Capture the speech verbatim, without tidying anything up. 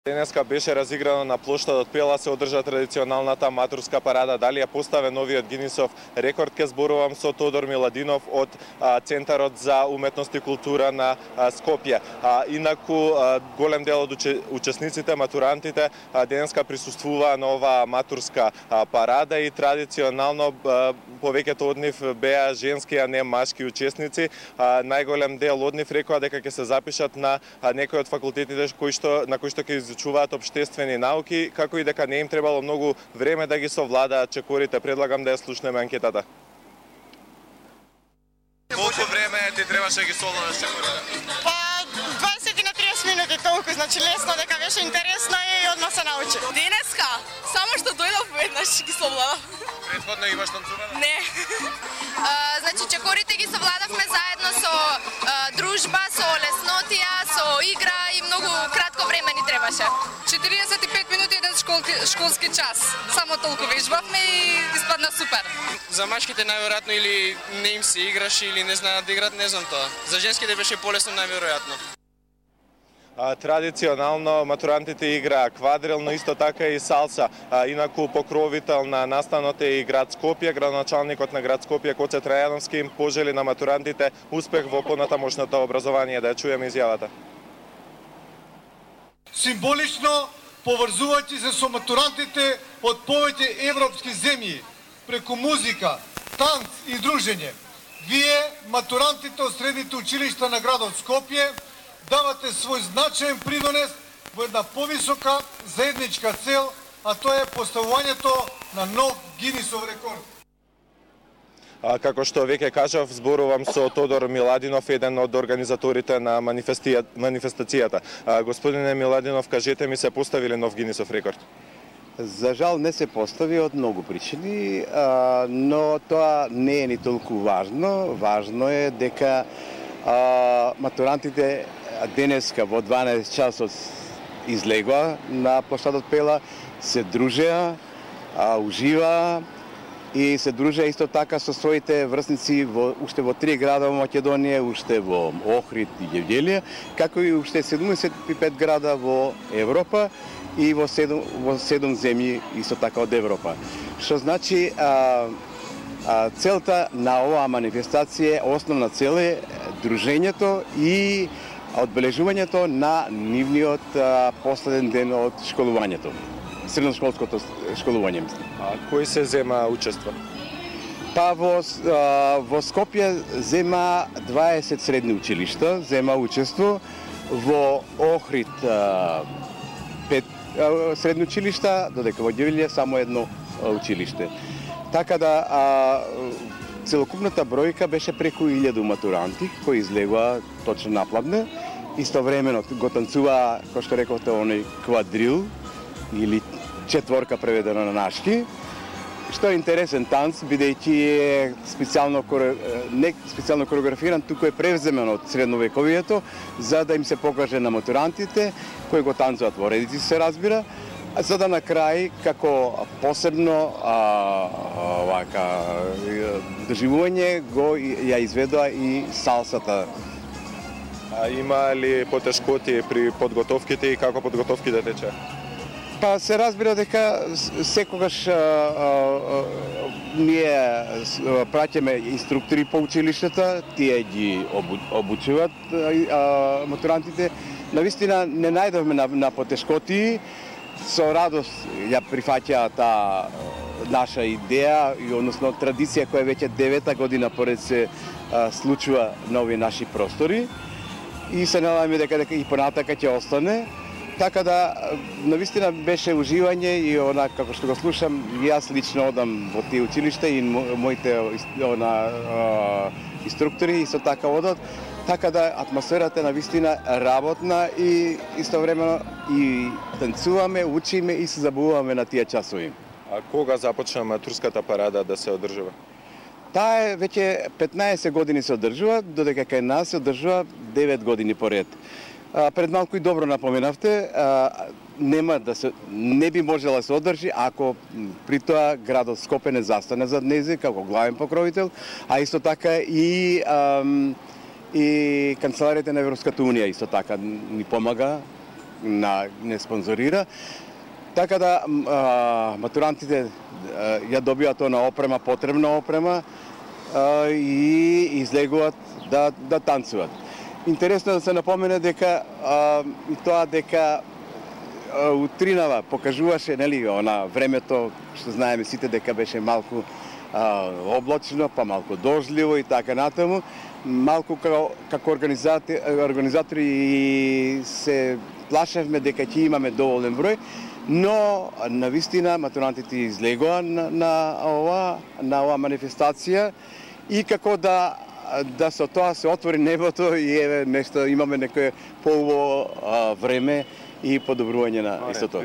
Денеска беше разиграно на плоштадот Пела, се одржа традиционалната матурска парада. Дали ја поставе новиот Гинисов рекорд, ке зборувам со Тодор Миладинов од а, Центарот за уметност и култура на а, Скопје. А, инаку а, голем дел од уче, учесниците, матурантите, а, денеска присуствуваа на оваа матурска а, парада и традиционално а, повеќето од нив беа женски, а не машки учесници. А, најголем дел од нив рекоа дека ќе се запишат на а, некои од факултетите кои што на кои што ќе изучуваат општествени науки, како и дека не им требало многу време да ги совладаат чекорите. Предлагам да ја слушнеме анкетата. Колку време ти требаше да ги совладаш чекорите? Па дваесет на триесет минути, толку, значи лесно, дека беше интересно и одма се научи. Денеска, само што дојдов веднаш ги совладав. Претходно имаш танцуване? Не. А, значи чекорите ги совладавме заедно со а, дружба, со леснотија, со игра и многу кратко време ни требаше. четириесет и пет минути еден школски, школски час. Само толку вежбавме и испадна супер. За машките најверојатно или не им се играш или не знаат да играат, не знам тоа. За женските беше полесно најверојатно. А, традиционално матурантите играа квадрил, но исто така и салса. А, инаку покровител на настанот е и град Скопје. Градоначалникот на град Скопје Коце Трајановски им пожели на матурантите успех во понатамошното образование. Да ја чуеме изјавата. Символично поврзувајќи се со матурантите од повеќе европски земји преку музика, танц и дружење. Вие, матурантите од средните училишта на градот Скопје, давате свој значаен придонес во една повисока заедничка цел, а тоа е поставувањето на нов Гинисов рекорд. А, како што веќе кажав, зборувам со Тодор Миладинов, еден од организаторите на манифестацијата. А, господине Миладинов, кажете ми, се поставиле нов Гинисов рекорд? За жал не се постави од многу причини, а, но тоа не е ни толку важно. Важно е дека а, матурантите денеска во дванаесет часот излегоа на плоштадот Пела, се дружеа, а, уживаа и се дружеа исто така со своите врсници во, уште во три града во Македонија, уште во Охрид и Гевделија, како и уште седумдесет и пет града во Европа и во седум, во седум земји исто така од Европа. Што значи а, а, целта на оваа манифестација, основна цел е дружењето и одбележувањето на нивниот а, последен ден од школувањето. Средношколското школување. А кој се зема учество? Па во, а, во Скопје зема дваесет средни училишта, зема учество, во Охрид а, пет а, средни училишта, додека во Гевделија само едно а, училиште. Така да а, целокупната бројка беше преку илјаду матуранти кои излегоа точно напладне. Истовремено го танцуваа, кој што рековте, оној квадрил или четворка преведено на нашки, што е интересен танц, бидејќи е специјално не специјално кореографиран, туку е превземен од средновековието, за да им се покаже на матурантите кои го танцуваат во редици, се разбира, за да на крај, како посебно а, вака, доживување го ја изведоа и салсата. А има ли потешкоти при подготовките и како подготовките тече? Па се разбира дека секогаш а, а, а, ние праќаме инструктори по училиштата, тие ги обу, обучуваат а, матурантите. Навистина не најдовме на, на потешкоти, со радост ја прифаќаа таа наша идеја и односно традиција која веќе девета година поред се а, случува на овие наши простори и се надеваме дека, дека и понатака ќе остане. Така да, навистина беше уживање и она, како што го слушам, и јас лично одам во тие училишта и моите она, инструктори исто така одат. Така да, атмосферата е навистина работна и истовремено и танцуваме, учиме и се забавуваме на тие часови. А кога започна матурската парада да се одржува? Таа е веќе петнаесет години се одржува, додека кај нас се одржува девет години поред. А, пред малку и добро напоменавте, а, нема да се не би можела да се одржи ако при тоа градот Скопје не застане зад нејзе како главен покровител, а исто така и ам, и канцеларијата на Европската унија исто така ни помага на не спонзорира. Така да а, матурантите а, ја добиваат она опрема, потребна опрема а, и излегуваат да да танцуваат. Интересно да се напомене дека а, и тоа дека а, утринава покажуваше, нели, она времето што знаеме сите дека беше малку а, облачно, па малку дожливо и така натаму. Малку како, како организатори, организатори се плашевме дека ќе имаме доволен број, но навистина матурантите излегоа на, на ова на оваа манифестација и како да да со тоа се отвори небото и еве нешто имаме некое поубаво време и подобрување на истото.